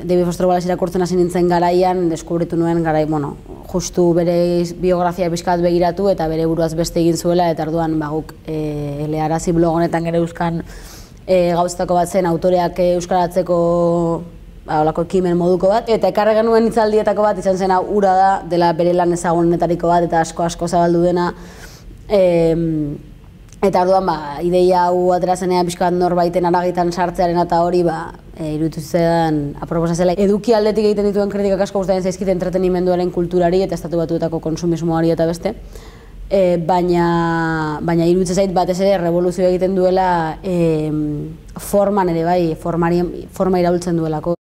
David Foster Wallace irakurtzen hasi nintzen garaian, deskubritu nuen justu bere biografia pixkat begiratu eta bere buruaz beste egin zuela, eta orduan guk elearazi blog honetan gero euskan gauztako bat zen autoreak euskaratzeko olako ekimen moduko bat, eta ekarri genuen hitzaldietako bat izan zen ura da, dela bere lan ezagunetariko bat eta asko zabaldu dena. Eta orduan ideia hau atera zenean pixka bat norbaiten aragitan sartzearen eta hori iruditu zidan aproposa zela. Eduki aldetik egiten dituen kritikak asko gustatzen zaizkit entretenimenduaren kulturari eta Estatu Batuetako konsumismoari eta beste. Baina iruditzen zait batez ere revoluzio egiten duela forman ere bai, forma iraultzen duelako.